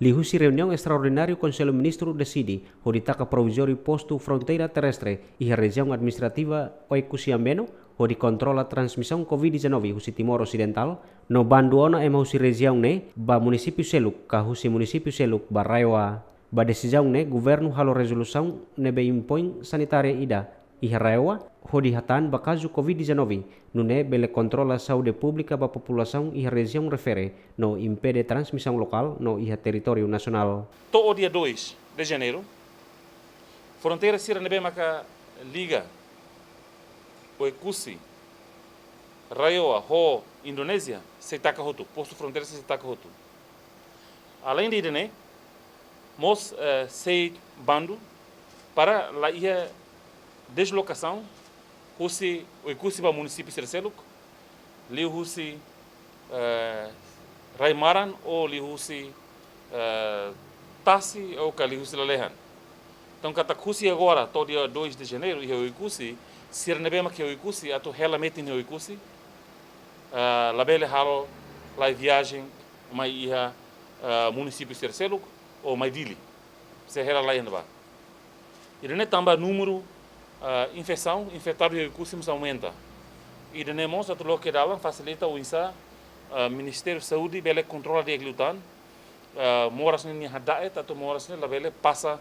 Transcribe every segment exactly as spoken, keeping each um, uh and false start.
Liuhusi reuniaun estraordináriu, Konsellu Ministru deside hodi taka provizóriu postu fronteira terrestre iha rejiaun administrativa Oekusi Ambeno, hodi kontrola transmisaun covid dezanove husi Timor Osidental, no bandu ona ema husi rejiaun ne'e ba munisípiu seluk, ka husi munisípiu seluk ba RAEOA. Ba desizaun ne'e, governu halo rezolusaun ne'ebé impoin sanitária ida iha RAEOA, hodi hatán ba kazu covid dezanove, nune'e bele kontrola saúde públika ba populasaun iha rejiaun refere, no impede transmisaun lokál no iha territóriu nasionál. To'o dia dois de Janeiro, fronteira sira ne'ebé maka liga Oekusi, RAEOA ho Indonézia, sei taka hotu, postu fronteira sei taka hotu. Além de ida-ne'e, mós, eh, sei bandu para la iha deslokasaun husi Oekusi ba munisípiu sira seluk, liuhusi, eh, rai-maran ou liuhusi, eh, tasi ou ka liuhusi lalehan. Entaun, katak husi agora to'o dia dois de Janeiro, iha Oekusi, sira ne'ebé mak iha Oekusi atu hela metin iha Oekusi, eh, labele halo lai viajen mai iha, eh, munisípiu sira seluk ou mai Dili. Sei hela laiha ne'ebá. Ida-ne'e tanba númeru, ah, infesaun, infetadu iha Oekusi mós aumenta. Ida-ne'e mós atu loke dalan fasilita oinsá, ah, Ministériu Saúde bele kontrola di'ak liután, ah, moras ne'e nia hada'et atu moras ne'e labele pasa,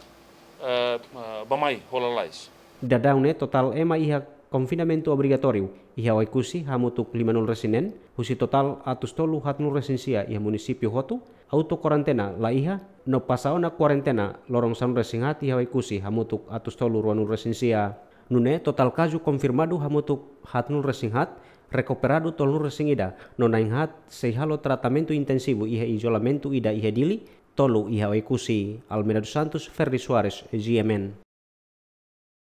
ah, ah, bá-mai ho lalais. Daudaun ne'e totál ema iha konfinamentu obrigatóriu iha Oekusi hamutuk limanulu-resin-neen, husi totál atus tolu haatnulu-resin-sia iha munisípiu hotu, auto-kuarentena laiha, no pasa ona kuarentena loron sanulu-resin-haat iha Oekusi hamutuk atus tolu ruanulu-resin-sia. Nune'e totál kazu konfirmadu hamutuk haatnulu-resin-haat, rekuperadu tolunulu-resin-ida, no na'in-haat sei halo tratamentu intensivu iha izolamentu ida iha Dili, tolu iha Oekusi. Almeida dos Santos, Ferdi Soares, G M N.